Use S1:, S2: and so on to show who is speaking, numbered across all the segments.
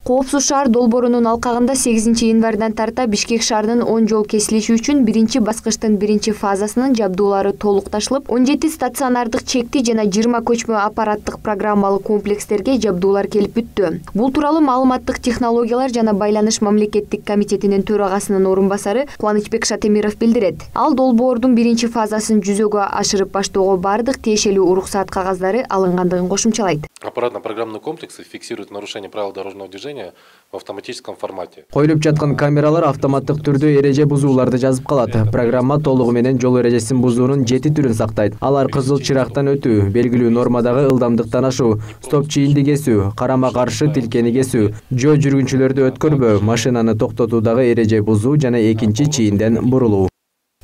S1: Коопсуз шаар долбоорунун алкагында 8 январдан тарта Бишкек шаарынын 10 жол кесилиши үчүн биринчи баскычтын биринчи фазасынын жабдуулары толукташылып, 17 стационардык чекти жана 20 көчмө аппараттык программалык комплекстерге жабдуулар келип бүттү. Бул тууралуу маалыматтык технологиялар жана байланыш мамлекеттик комитетинин төрагасынын орун басары Кубанычбек Шатемиров билдирет. Ал долбоордун биринчи фазасын жүзөгө ашырып баштоого бардык тиешелүү уруксаат кагаздары алынгандыгын кошумчалайт.
S2: Аппаратно-программные комплексы фиксируют нарушение правил дорожного движения в автоматическом формате.
S3: Коюлуп жаткан камералар автоматтык түрдө эреже бузууларды жазып калат. Программа толугу менен жол эрежесин бузуунун 7 түрүн сактайт. Алар кызыл чырактан өтүү, белгилүү нормадагы ылдамдыктан ашуу, стоп чийинди кесүү, карама каршы тилкени кесүү, жол жүргүнчүлөрдү өткөрбөө, машинаны токтотуудагы эреже бузуу жана экинчи чийинден бурулуу.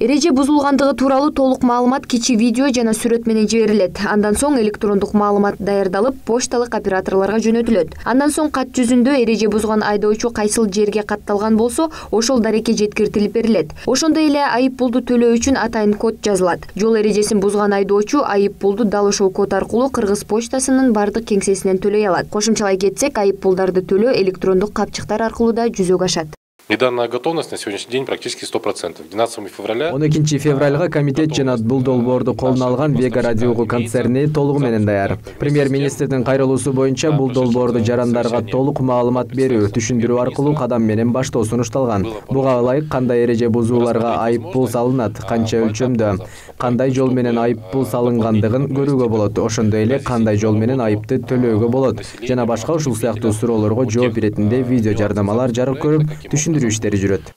S1: Эреже бузулгандыгы тууралуу толук маалымат кичи видео жана сүрөт менен жиберилет. Андан соң электрондук маалымат даярдалып, почталык операторлорго жөнөтүлөт. Андан соң кат жүзүндө эреже бузган айдоочу кайсыл жерге катталган болсо, ошол дарекке жеткиртилип берилет. Ошондой эле айып пулду төлөө үчүн атайын код жазылат. Жол эрежесин бузган айдоочу айып пулду дал ошол код аркылуу Кыргыз почтасынын бардык кеңсесинен төлөй алат. Кошумчалай кетсек, айып пулдарды төлөө электрондук капчыктар аркылуу да жүзөгө ашат.
S2: И данная готовность на сегодняшний день практически 100%. 12 февраля...
S3: 12 февралга комитет жана бул долбоорду колуна алган Вега радиогу концерни толугу менен даяр. Премьер-министрдин кайрылуусу боюнча бул долбоорду жарандарга толук маалымат берүү, түшүндүрүү аркылуу кадам менен баштоо сунушталган. Буга ылайык кандай эреже бузууларга айып пул салынат, канча өлчөмдө, кандай жол менен айып пул салынгандыгын көрүүгө болот, ошондой эле кандай жол менен айыпты төлөөгө болот жана башка ушул сыяктуу суроолорго жооп иретинде видео жардамалар жарык көрүп, иштери жүрөт.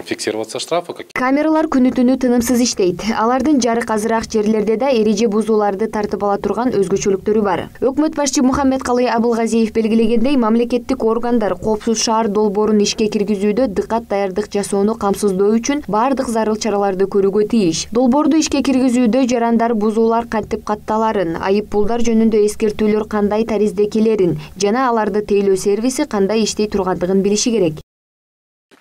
S2: Фиксироваться штрафы.
S1: Камералар күнү-түнү тынымсыз иштейт. Алардын жарык азыраак жерлерде да эреже бузууларды тартып ала турган өзгөчөлүктөрү бар. Өкмөт башчы Мухаммедкалый Абылгазиев белгилегендей, мамлекеттик органдар коопсуз шаар долбоорун ишке киргизүүдө дыккат даярдык жасоону камсыздоо үчүн бардык зарыл чараларды көрүүгө тийиш. Долбоорду ишке киргизүүдө жарандар бузуулар кантип катталарын, айып пулдар жөнүндө эскертүүлөр кандай таризде келерин жана аларды тейлөө сервиси кандай иштей тургандыгын билиши керек.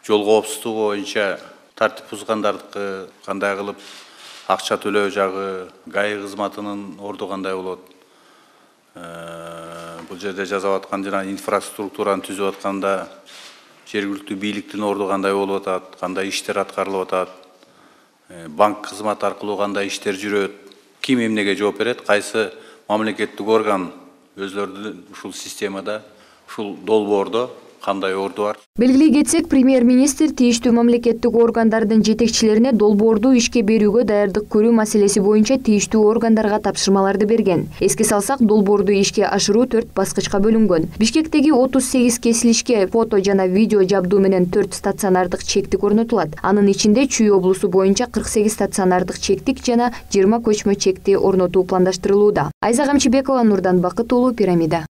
S4: Жол коопсуздугу боюнча тартип бузгандардыкы кандай кылып акча төлөө жагы, ГАИ кызматынын орду кандай болот. Бул жерде жазып аткан жана инфраструктураны түзүп атканда жергиликтүү бийликтин орду кандай болуп атат, кандай иштер аткарылып атат, банк кызматы аркылуу кандай иштер жүрөт, ким эмнеге жооп берет, кайсы мамлекеттик орган өзлөрүнүн ушул системада, ушул долбоордо кандай орду бар.
S1: Белгилей кетсек, премьер-министр тийиштүү мамлекеттик органдардын жетекчилерине долбоорду ишке берүүгө даярдык көрүү маселеси боюнча тийиштүү органдарга тапшырмаларды берген. Эске салсак, долбоорду ишке ашыруу 4 баскычка бөлүнгөн. Бишкектеги 38 кесилишке фото жана видео жабдуу менен 4 стационардык чектик орнотулат. Анын ичинде Чүй облусу боюнча 48 стационардык чектик жана 20 көчмө чекти орнотуу пландаштырылууда. Айза Камчыбекова, Нурдан Бакыт уулу, Пирамида.